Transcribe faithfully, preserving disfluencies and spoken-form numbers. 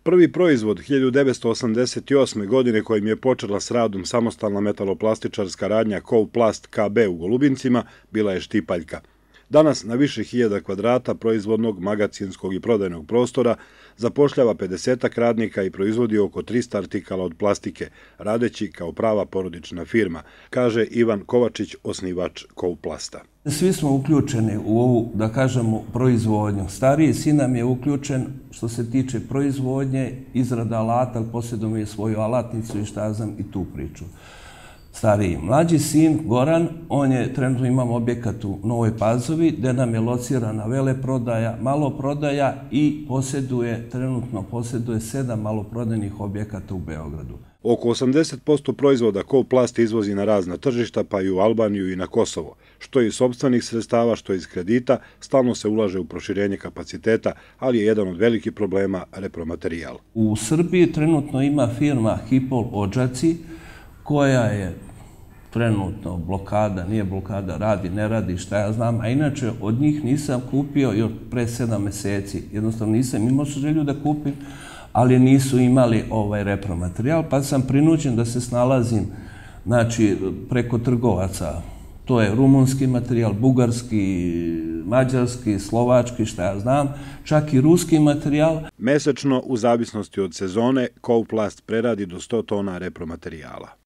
Prvi proizvod hiljadu devetsto osamdeset osme. godine kojim je počela s radom samostalna metaloplastičarska radnja Kovplast K B u Golubincima bila je štipaljka. Danas na više hiljada kvadrata proizvodnog, magacinskog i prodajnog prostora zapošljava pedesetak radnika i proizvodi oko trista artikala od plastike, radeći kao prava porodična firma, kaže Ivan Kovačić, osnivač Kovplasta. Svi smo uključeni u ovu, da kažemo, proizvodnju. Stariji sin nam je uključen što se tiče proizvodnje, izrada alata, ali posjeduje svoju alatnicu i šta ja znam i tu priču. Stariji. Mlađi sin, Goran, on je, trenutno imamo objekat u Novoj Pazovi, gde nam je locirana veleprodaja, maloprodaja i posjeduje, trenutno posjeduje sedam maloprodajnih objekata u Beogradu. Oko osamdeset posto proizvoda Kovplast izvozi na razna tržišta, pa i u Albaniju i na Kosovo. Što iz sopstvenih sredstava, što iz kredita, stalno se ulaže u proširenje kapaciteta, ali je jedan od velikih problema repromaterijal. U Srbiji trenutno ima firma Hipol Odžaci, koja je trenutno blokada, nije blokada, radi, ne radi, šta ja znam, a inače od njih nisam kupio još pre sedam meseci. Jednostavno nisam imao želju da kupim, ali nisu imali ovaj repromaterijal, pa sam prinuđen da se snalazim, znači, preko trgovaca. To je rumunski materijal, bugarski, mađarski, slovački, šta ja znam, čak i ruski materijal. Mesečno, u zavisnosti od sezone, Kovplast preradi do sto tona repromaterijala.